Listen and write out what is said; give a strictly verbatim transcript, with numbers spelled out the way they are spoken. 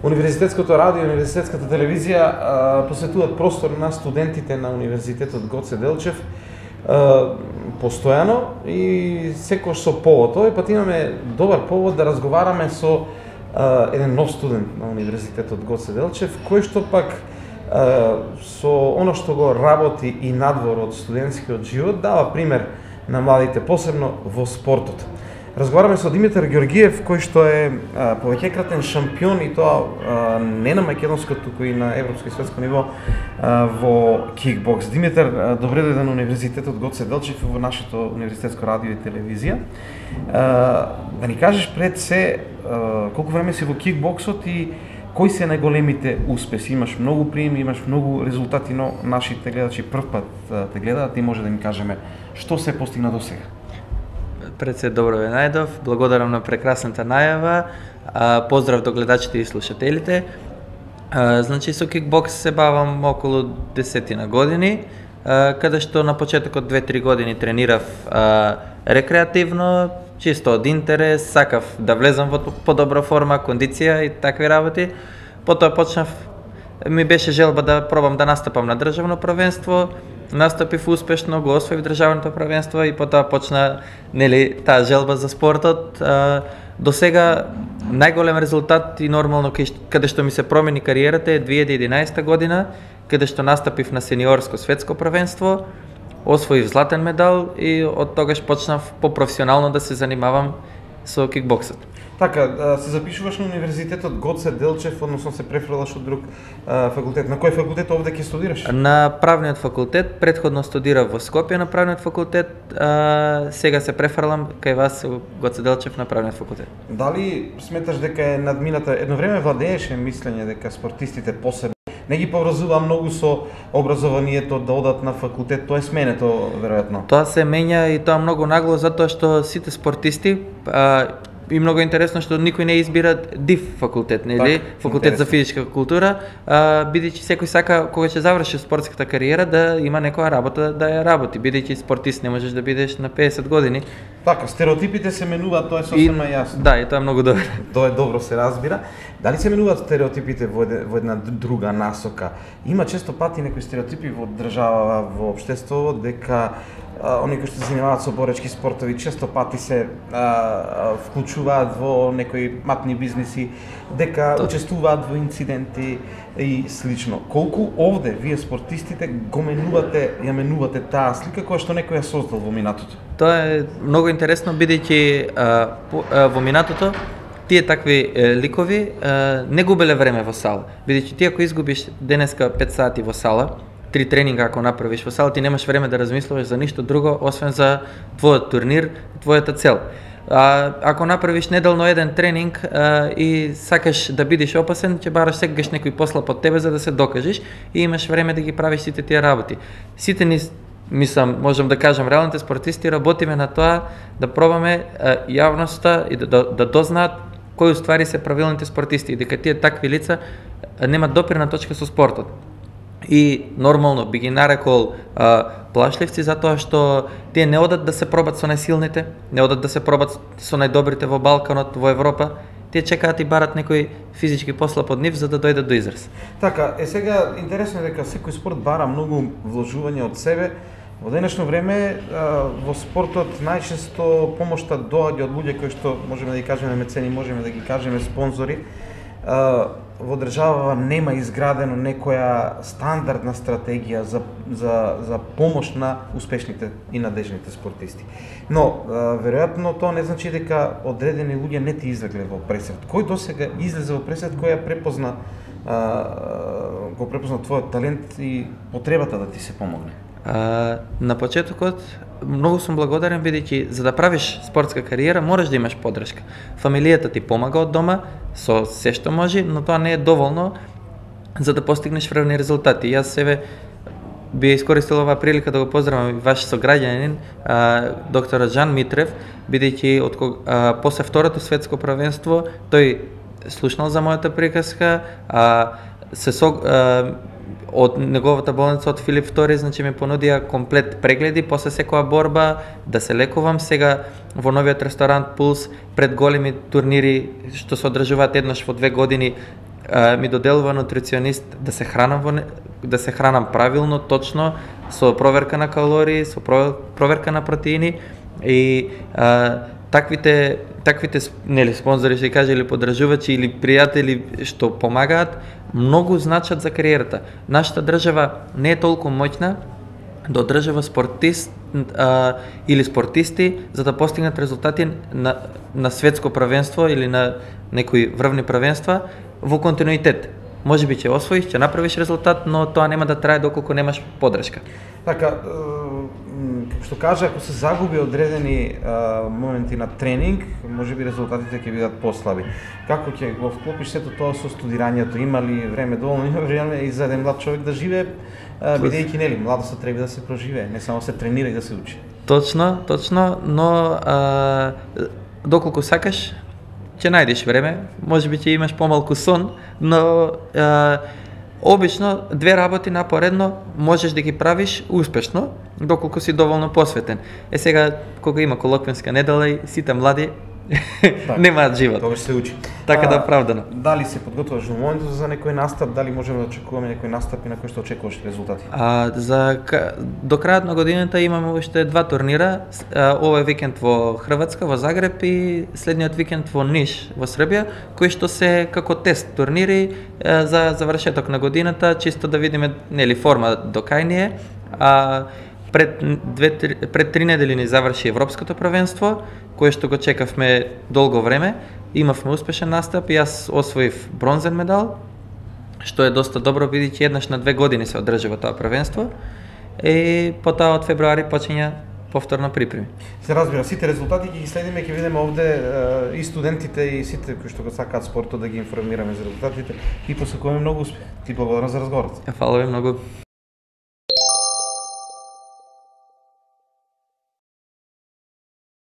Универзитетското радио и универзитетската телевизија а, посветуваат простор на студентите на Универзитетот Гоце Делчев а, постојано и секој со повод. Овој пат имаме добар повод да разговараме со а, еден нов студент на Универзитетот Гоце Делчев, кој што пак а, со оно што го работи и надвор од студентскиот живот дава пример на младите, посебно во спортот. Разговараме со Димитар Ѓоргиев, кој што е а, повеќекратен шампион и тоа а, не на македонско, туку и на европско и светско ниво а, во кикбокс. Димитар, а, добре дојде на Универзитетот Гоце Делчев во нашето универзитетско радио и телевизија. А, да ни кажеш пред се а, колку време си во кикбоксот и кои се најголемите успеси? Имаш многу приеми, имаш многу резултати, но нашите гледачи прв пат а, те гледаат и може да ни кажеме што се постигна до сега. Пред се добро ве најдов, благодарам на прекрасната најава, а, поздрав до гледачите и слушателите. А, значи со кикбокс се бавам околу десетина години, а, каде што на почетокот две-три години тренирав а, рекреативно, чисто од интерес, сакав да влезам во подобра форма, кондиција и такви работи. Потоа почнав, ми беше желба да пробам да настапам на државно првенство. Настапив успешно, го освоив државното првенство и потоа почна, нели, таа желба за спортот. А, до сега најголем резултат и нормално каде што ми се промени кариерата е две илјади и единаесета година, каде што настапив на сениорско светско првенство, освоив златен медал и од тогаш почнав попрофесионално да се занимавам со кикбоксот. Така, се запишуваш на Универзитетот Гоце Делчев, односно се префрлаш од друг а, факултет. На кој факултет овде ќе студираш? На правниот факултет, претходно студирав во Скопје на правниот факултет, а, сега се префрлам кај вас во Гоце Делчев на правниот факултет. Дали сметаш дека е надмината, едно време владееше мислење дека спортистите посебно не ги поврзува многу со образованието да одат на факултет, тоа е сменето веројатно. Тоа се менја и тоа многу нагло затоа што сите спортисти а, и многу интересно што никој не избира ДИФ факултет, нели? Так, факултет интересно. за физичка култура, а, бидејќи секој сака кога ќе заврши спортската кариера да има некоја работа да ја работи, бидејќи спортист не можеш да бидеш на педесет години. Така, стереотипите се менуваат, тоа е сосема јасно. Да, и тоа е многу добро. Тоа е добро се разбира. Дали се менуваат стереотипите во, еде, во една друга насока? Има често пати некои стереотипи во држава, во општеството, дека а, оние кои што се занимаваат со боречки спортови често пати се а, а, вклучуваат во некои матни бизниси, дека Точно. учествуваат во инциденти и слично. Колку овде вие спортистите го менувате, ја менувате таа слика која што некој ја создал во минатото? Тоа е многу интересно бидејќи а, по, а, во минатото тие такви е, ликови е, не губеле време во сала. Бидејќи ти ако изгубиш денеска пет сати во сала, три тренинга ако направиш во сала, ти немаш време да размислуваш за ништо друго освен за твојот турнир, твојата цел. А, ако направиш неделно еден тренинг а, и сакаш да бидеш опасен, ќе бараш секогаш некој послаб од тебе за да се докажеш и имаш време да ги правиш сите тие работи. Сите ни, мислам, можам да кажам, реалните спортисти работиме на тоа да пробаме а, јавноста и да, да, да дознаат кои уствари се правилните спортисти и дека тие такви лица немат допирна точка со спортот. И нормално би ги нарекол а, плашливци затоа што тие не одат да се пробат со најсилните, не одат да се пробат со најдобрите во Балканот, во Европа, тие чекаат и барат некој физички послаб од нив за да дојдат до израз. Така, е сега интересно е дека секој спорт бара многу вложување од себе. Во денешно време во спортот најчесто помошта доаѓа од луѓе кои што можеме да ги кажеме мецени, можеме да ги кажеме спонзори. Во држава нема изградено некоја стандардна стратегија за, за, за помош на успешните и надежните спортисти. Но, веројатно тоа не значи дека одредени луѓе не ти излегле во пресрет. Кој досега излезе во пресрет, кој ја препозна, го препозна твојот талент и потребата да ти се помогне? А, на почетокот многу сум благодарен бидејќи за да правиш спортска кариера мораш да имаш поддршка. Фамилијата ти помага од дома со се што може, но тоа не е доволно за да постигнеш врвни резултати. Јас себе би искористил оваа прилика да го поздравам ваш сограѓанин, доктор Жан Митрев, бидејќи од а, после второто светско првенство тој слушнал за мојата приказка, а, се со, а, од неговата болница од Филип втори, значи ми понудија комплет прегледи после секоја борба, да се лекувам. Сега во новиот ресторант Пулс, пред големи турнири што се одржуваат еднаш во две години, а, ми доделува нутриционист да се хранам во не, да се хранам правилно, точно, со проверка на калории, со проверка на протеини и а, таквите таквите нели спонзори што каже или подржувачи или пријатели што помагаат многу значат за кариерата. Нашата држава не е толку моќна да одржава спортист а, или спортисти за да постигнат резултати на, на светско првенство или на некои врвни првенства во континуитет. Може би ќе освоиш, ќе направиш резултат, но тоа нема да трае доколку немаш поддршка. Така, како што кажа, ако се загуби одредени а, моменти на тренинг, може би резултатите ќе бидат послаби. Како ќе го вклопиш сето тоа со студирањето? Има ли време доволно? Има време и за еден млад човек да живее, бидејќи нели младоста треба да се проживее, не само се тренира и да се учи. Точно, точно, но а, доколку сакаш, ќе најдеш време, може би ќе имаш помалку сон, но а, обично две работи напоредно можеш да ги правиш успешно, доколку си доволно посветен. Е сега, кога има колоквенска недела и сите млади так, немаат живот. Тогаш се учи. Така да оправдано. Дали се подготвуваш во моментот за некој настап, дали можеме да очекуваме некој настап и на кој што очекуваш резултати? А, за до крајот на годината имаме уште два турнира. Овој викенд во Хрватска, во Загреб и следниот викенд во Ниш, во Србија, кои што се како тест турнири за завршеток на годината, чисто да видиме нели форма до кај ни е. А пред две пред три недели ни заврши европското првенство, кое што го чекавме долго време. Имавме успешен настап и јас освоив бронзен медал, што е доста добро бидејќи еднаш на две години се одржува тоа првенство. И потоа од февруари почиња повторно припреми. Се разбира, сите резултати ќе ги следиме, ќе видиме овде и студентите и сите кои што го сакаат спортот да ги информираме за резултатите и посакуваме многу успех. Ти благодарам за разговорот. Фала ви многу.